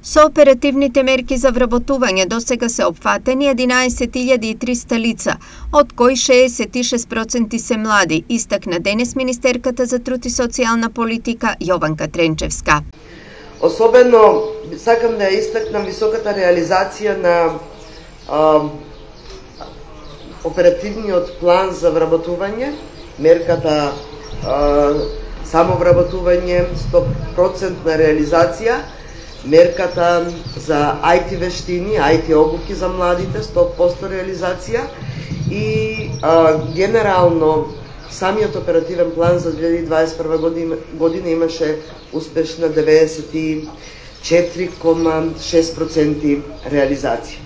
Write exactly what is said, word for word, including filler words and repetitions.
Со оперативните мерки за вработување досега се опфатени единаесет илјади и триста лица, од кои шеесет и шест проценти се млади, истакна денес министерката за труд и социјална политика Јованка Тренчевска. Особено сакам да ја истакнам високата реализација на а, оперативниот план за вработување, мерката а, самовработување, сто проценти реализација, мерката за ај ти вештини, ај ти обуки за младите, сто проценти реализација и а, генерално самиот оперативен план за две илјади и дваесет и прва година, година имаше успешна деветдесет и четири зарез шест проценти реализација.